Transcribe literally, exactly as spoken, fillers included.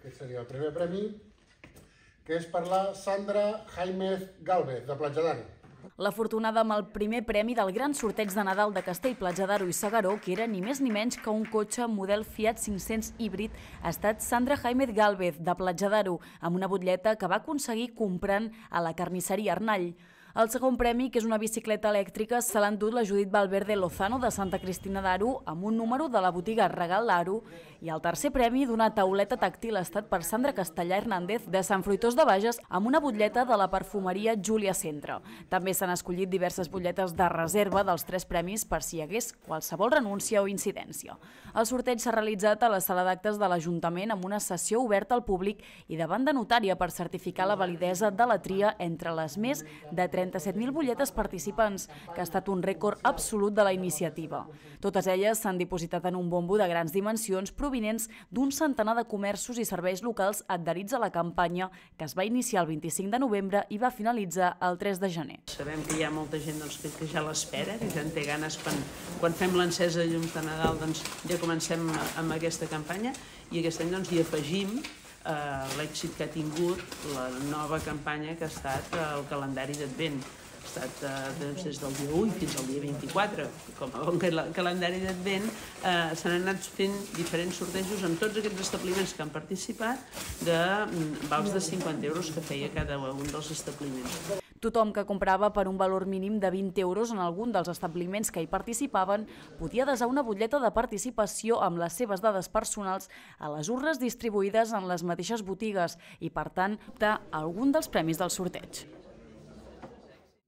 Aquest seria el primer premi, que és per la Sandra Jaimez Gálvez, de Platja d'Aro. L'afortunada amb el primer premi del gran sorteig de Nadal de Castell, Platja d'Aro i S'Agaró, que era ni més ni menys que un cotxe model Fiat cinc-cents híbrid, ha estat Sandra Jaimez Gálvez, de Platja d'Aro, amb una butlleta que va aconseguir comprant a la carnisseria Arnall. El segon premi, que és una bicicleta elèctrica, se l'ha endut la Judit Valverde Lozano, de Santa Cristina d'Aro, amb un número de la botiga Regal d'Aro, i el tercer premi d'una tauleta tàctil ha estat per Sandra Castellà Hernández, de Sant Fruitós de Bages, amb una butlleta de la perfumeria Júlia Centre. També s'han escollit diverses butlletes de reserva dels tres premis per si hi hagués qualsevol renúncia o incidència. El sorteig s'ha realitzat a la sala d'actes de l'Ajuntament amb una sessió oberta al públic i davant de notària per certificar la validesa de la tria entre les més de trenta-set mil butlletes participants, que ha estat un rècord absolut de la iniciativa. Totes elles s'han dipositat en un bombo de grans dimensions provinents d'un centenar de comerços i serveis locals adherits a la campanya, que es va iniciar el vint-i-cinc de novembre i va finalitzar el tres de gener. Sabem que hi ha molta gent doncs, que, que ja l'espera, que ja en té ganes quan, quan fem l'encesa de llums de Nadal, doncs, ja comencem amb aquesta campanya i aquest any doncs, hi afegim eh, l'èxit que ha tingut la nova campanya que ha estat el calendari d'Advent. Ha estat eh, doncs, des del dia u fins al dia vint-i-quatre. Com a bon calendari d'Advent eh, s'han anat fent diferents sortejos en tots aquests establiments que han participat de vals de cinquanta euros que feia cada un dels establiments. Tothom que comprava per un valor mínim de vint euros en algun dels establiments que hi participaven podia desar una butlleta de participació amb les seves dades personals a les urnes distribuïdes en les mateixes botigues i, per tant, optar a algun dels premis del sorteig.